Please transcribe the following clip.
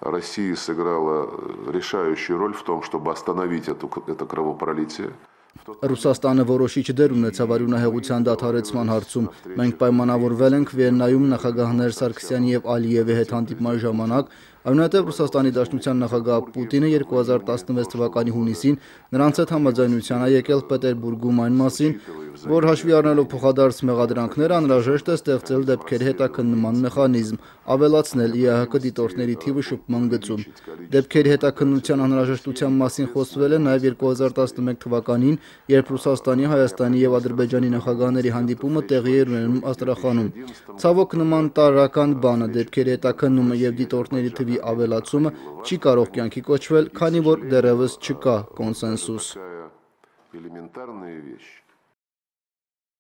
Россия сыграла решающую роль в том, чтобы остановить это кровопролитие. Ռուսաստանը որոշիչ դեր ունեցավ արյունահեղության դադարեցման հարցում։ Մենք պայմանավորվել ենք Վիեննայում նախագահներ Սարգսյանի եւ Ալիևի հետ հանդիպման ժամանակ, այնուհետև Ռուսաստանի Դաշնության նախագահ Պուտինը 2016 թվականի հունիսին նրանց հետ համաձայնության է եկել Պետերբուրգում այն մասին, որ հաշվի առնելով փոխադարձ մեղադրանքները անհրաժեշտ է ստեղծել դեպքերի հետաքննման մեխանիզմ, ավելացնել ԻԱՀԿ դիտորդների թիվը շփման գծում։ Դեպքերի հետաքննության անհրաժեշտության մասին խոսվել է նաև 2011 թվականին, երբ Ռուսաստանի, Հայաստանի եւ Ադրբեջանի նախագահների հանդիպումը տեղի էր ունենում Աստրախանում։ Ցավոք նման տարրական բանը դեպքերի հետաքննումը եւ դիտորդների թվի ավելացումը չի կարող կյանքի կոչվել, քանի որ դեռևս չկա կոնսենսուս։